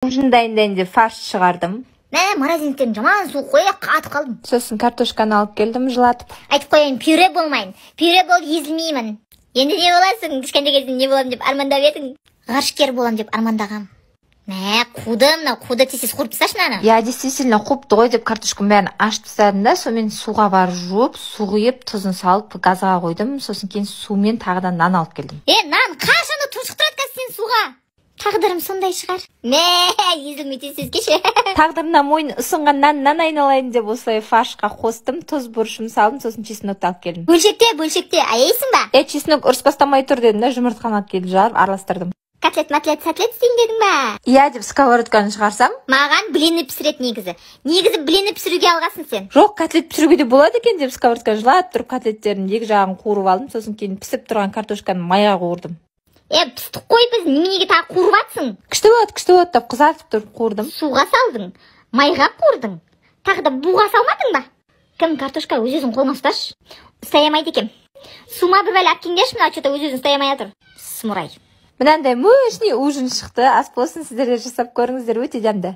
Ужин дайындайын деп фарш шығардым. Морозильниктен жаман суық қой, қатып қалдым. Сосын картошканы алып келдім, жылатып. Айтып қояйын, пюре болмайын. Пюре бол езілмеймін. Енді не боласың? Кішкентай кезінде не боламын деп армандап едің? Ғарышкер болам деп армандағам. Қуды тез қуырып тасташы мынаны. Я действительно қуыпты ғой деп картошканың бәрін ашып тастадым да, сонымен суға барып жуып, су құйып, тұзын салып газға қойдым. Сосын кейін сумен тағыдан нан алып келдім. Нан қашанда тұншықтырады қазір сен суға. Тағдырым сондай шығар. Езілмейтін сөз кеше. Тағдырына мойын ұсынған наннан айналайын деп осылай фаршқа қостым, тұз бұрышым салдым, сосын чеснокты алып келдім. Бөлшекте, аяйсың ба? Чеснок ұрыс бастамай тұр дедім да, жұмыртқаны алып келіп жарып араластырдым. Котлет, сәтлет істейін дедің ба? Иә деп сковородканы шығарсам, маған блинді пісірет негізі. Негізі блинді пісіруге алғасын сен. Жоқ, котлет пісіруге де болады екен деп сковородканы жылап тұрып котлеттерін екі жағын қуырып алдым, сосын кейін пісіп тұрған картошканы майға қуырдым. Пістік қой, біз неменеге тағы қуырып атсың? Күшті болады деп қызартып тұрып қуырдым. Суға салдың, майға қуырдың. Тағы да буға салмадың ба? Кім картошка өз-өзің қолыңа ұсташы. Ұстай алмайды екем. Сума бір бәлі әпкеңдерші, мына что-то өз-өзің ұстай алмай жатыр. Смұрай. Мынандай мощный ужин шықты. Ас болсын, сіздер де жасап көріңіздер, өте дәмді.